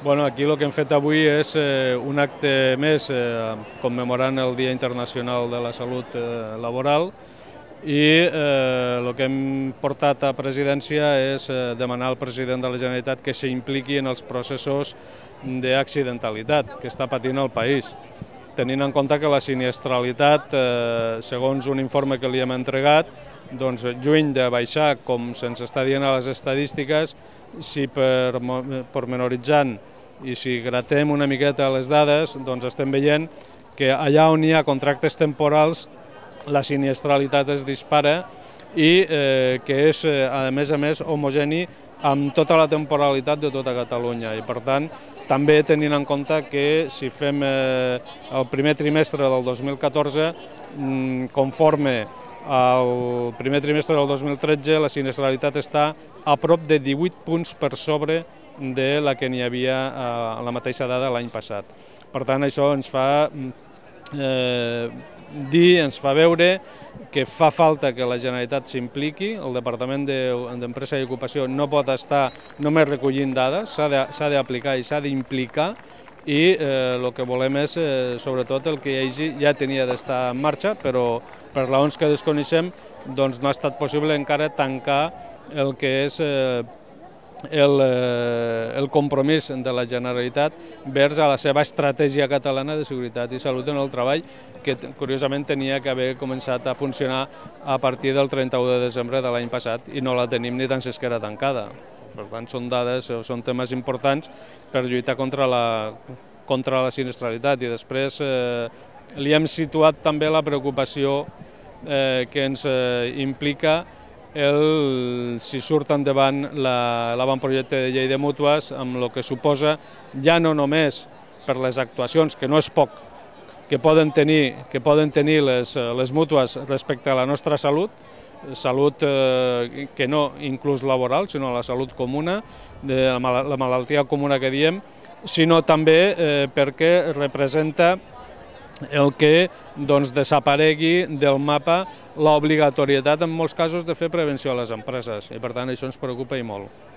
Aquí el que hem fet avui és un acte més commemorant el Dia Internacional de la Salut Laboral i el que hem portat a presidència és demanar al president de la Generalitat que s'impliqui en els processos d'accidentalitat que està patint el país, tenint en compte que la siniestralitat, segons un informe que li hem entregat, lluny de baixar, com se'ns està dient a les estadístiques, si pormenoritzant i si gratem una miqueta les dades, estem veient que allà on hi ha contractes temporals la siniestralitat es dispara i que és, a més, homogeni amb tota la temporalitat de tota Catalunya. I, per tant, també tenint en compte que si fem el primer trimestre del 2014, conforme al primer trimestre del 2013, la siniestralitat està a prop de 18 punts per sobre de la que n'hi havia a la mateixa dada l'any passat. Per tant, això ens fa ens fa veure que fa falta que la Generalitat s'impliqui, el Departament d'Empresa i Ocupació no pot estar només recollint dades, s'ha d'aplicar i s'ha d'implicar, i el que volem és, sobretot, el que ja tenia d'estar en marxa, però per raons que desconeixem no ha estat possible encara tancar el que és el compromís de la Generalitat vers a la seva estratègia catalana de seguretat i salut en el treball, que curiosament tenia que haver començat a funcionar a partir del 31 de desembre de l'any passat i no la tenim ni tan siquiera tancada. Per tant, són dades, són temes importants per lluitar contra la siniestralitat. I després li hem situat també la preocupació que ens implica si surt endavant l'avantprojecte de llei de mútues, amb el que suposa ja no només per les actuacions, que no és poc, que poden tenir les mútues respecte a la nostra salut que no inclús laboral, sinó la salut comuna, la malaltia comuna que diem, sinó també perquè representa el que desaparegui del mapa l'obligatorietat en molts casos de fer prevenció a les empreses, i per tant això ens preocupa i molt.